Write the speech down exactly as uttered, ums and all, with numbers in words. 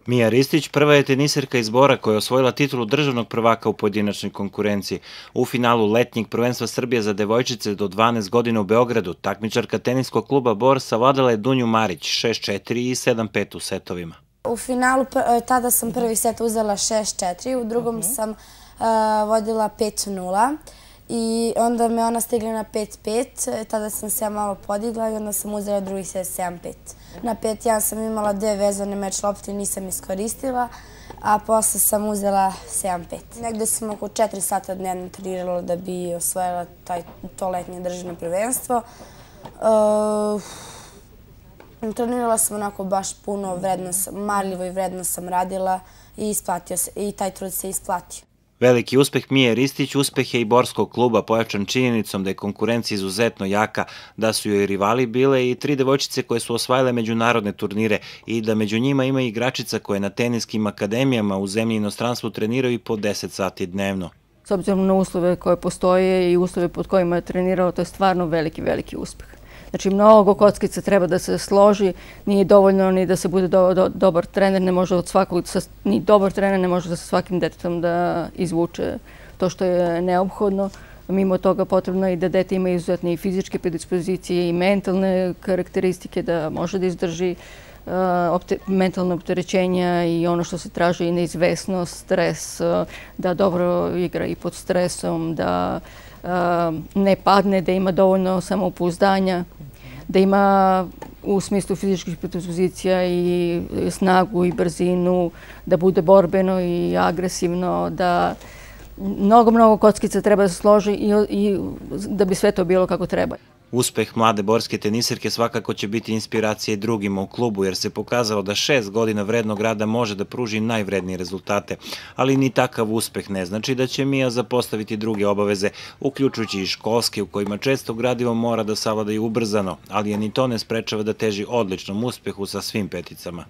Mija Ristić prva je teniserka iz Bora koja je osvojila titulu državnog prvaka u pojedinačnoj konkurenciji. U finalu letnjeg prvenstva Srbije za devojčice do dvanaest godina u Beogradu takmičarka teniskog kluba Bor savladala je Dunju Marić šest četiri i sedam pet u setovima. U finalu tada sam prvi set uzela šest četiri, u drugom sam vodila pet nula i onda me ona stigla na pet pet, tada sam se ja malo podigla i onda sam uzela drugi set sedam pet. Na pet jedan sam imala dve vezane meč lopte i nisam iskoristila, a posle sam uzela sedam pet. Negde sam oko četiri sata dnevno trenirala da bi osvojila to letnje državno prvenstvo. Trenirala sam onako baš puno, marljivo i vredno sam radila i taj trud se isplatio. Veliki uspeh Mije Ristić uspeh je i borskog kluba, pojačan činjenicom da je konkurencija izuzetno jaka, da su joj rivali bile i tri devojčice koje su osvajale međunarodne turnire i da među njima ima igračica koje na teniskim akademijama u zemlji i inostranstvu treniraju i po deset sati dnevno. S obzirom na uslove koje postoje i uslove pod kojima je trenirao, to je stvarno veliki, veliki uspeh. Znači, mnogo kockica treba da se složi, nije dovoljno ni da se bude dobar trener, ne može od svakog, ni dobar trener ne može da sa svakim detetom da izvuče to što je neophodno. Mimo toga potrebno je i da dete ima izuzetne i fizičke predispozicije i mentalne karakteristike, da može da izdrži mentalne opterećenja i ono što se traži i neizvesnost, stres, da dobro igra i pod stresom, da ne padne, da ima dovoljno samopouzdanja, da ima u smislu fizičkih predispozicija i snagu i brzinu, da bude borbeno i agresivno, da mnogo, mnogo kockica treba da se složi i da bi sve to bilo kako treba. Uspeh mlade borske teniserke svakako će biti inspiracija i drugima u klubu, jer se pokazalo da šest godina vrednog rada može da pruži najvrednije rezultate. Ali ni takav uspeh ne znači da će Mija zapostaviti druge obaveze, uključujući i školske, u kojima često gradivo mora da savlada i ubrzano, ali je ni to ne sprečava da teži odličnom uspehu sa svim peticama.